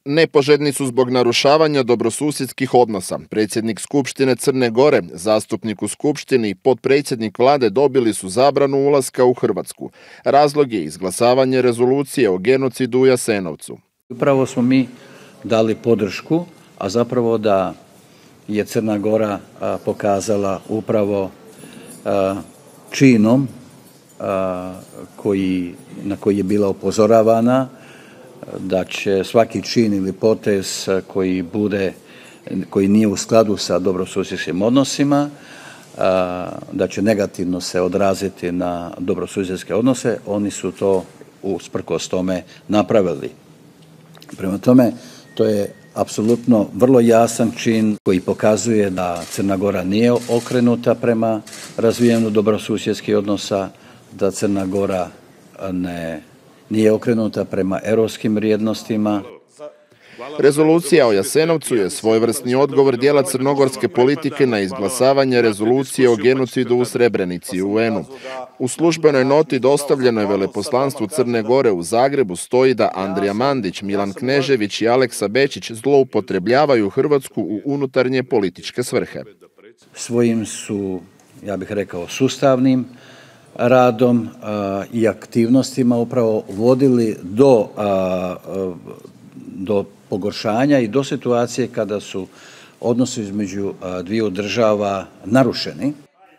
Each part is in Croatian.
Nepoželjni su zbog narušavanja dobrosusjedskih odnosa. Predsjednik Skupštine Crne Gore, zastupnik u Skupštini i potpredsjednik vlade dobili su zabranu ulaska u Hrvatsku. Razlog je izglasavanje rezolucije o genocidu u Jasenovcu. Upravo smo mi dali podršku, a zapravo da je Crna Gora pokazala upravo činom na koji je bila upozoravana, da će svaki čin ili potez koji nije u skladu sa dobrosusjedskim odnosima, da će negativno se odraziti na dobrosusjedske odnose, oni su to usprkos tome napravili. Prema tome, to je apsolutno vrlo jasan čin koji pokazuje da Crna Gora nije okrenuta prema razvijanju dobrosusjedskih odnosa, da Crna Gora nije okrenuta prema europskim vrijednostima. Rezolucija o Jasenovcu je svojevrsni odgovor dijela crnogorske politike na izglasavanje rezolucije o genocidu u Srebrenici u UN-u. U službenoj noti dostavljenoj veleposlanstvu Crne Gore u Zagrebu stoji da Andrija Mandić, Milan Knežević i Aleksa Bečić zloupotrebljavaju Hrvatsku u unutarnje političke svrhe. Svojim su, ja bih rekao, sustavnim radom i aktivnostima upravo vodili do pogoršanja i do situacije kada su odnosi između dviju država narušeni.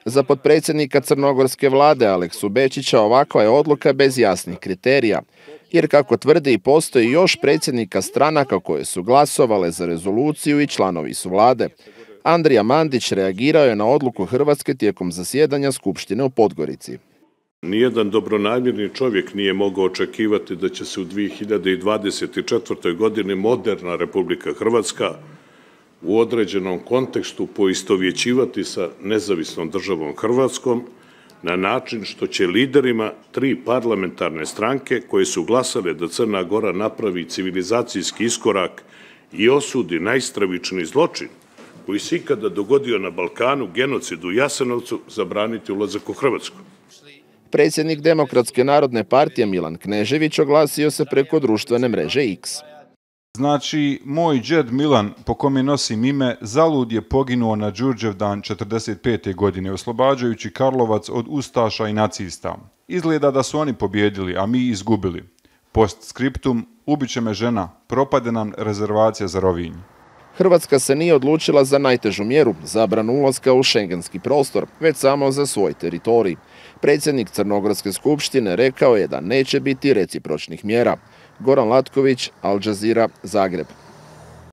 Za potpredsjednika crnogorske vlade Aleksu Bečića ovakva je odluka bez jasnih kriterija, jer kako tvrdi postoji još predsjednika stranaka koje su glasovale za rezoluciju i članovi su vlade. Andrija Mandić reagirao je na odluku Hrvatske tijekom zasjedanja Skupštine u Podgorici. Nijedan dobronamjerni čovjek nije mogao očekivati da će se u 2024. godini moderna Republika Hrvatska u određenom kontekstu poistovjećivati sa nezavisnom državom Hrvatskom na način što će liderima 3 parlamentarne stranke koje su glasale da Crna Gora napravi civilizacijski iskorak i osudi najstravičniji zločin koji se ikada dogodio na Balkanu, genocid u Jasenovcu, zabraniti ulazak u Hrvatsku. Predsjednik Demokratske narodne partije Milan Knežević oglasio se preko društvene mreže X. Znači, moj džed Milan, po kome nosim ime, zalud je poginuo na Đurđevdan 45. godine, oslobađajući Karlovac od ustaša i nacista. Izgleda da su oni pobjedili, a mi izgubili. Postskriptum, ubiće me žena, propade nam rezervacija za Rovinj. Hrvatska se nije odlučila za najtežu mjeru, zabranu ulaska u šengenski prostor, već samo za svoj teritorij. Predsjednik Crnogorske skupštine rekao je da neće biti recipročnih mjera. Goran Latković, Al Jazeera, Zagreb.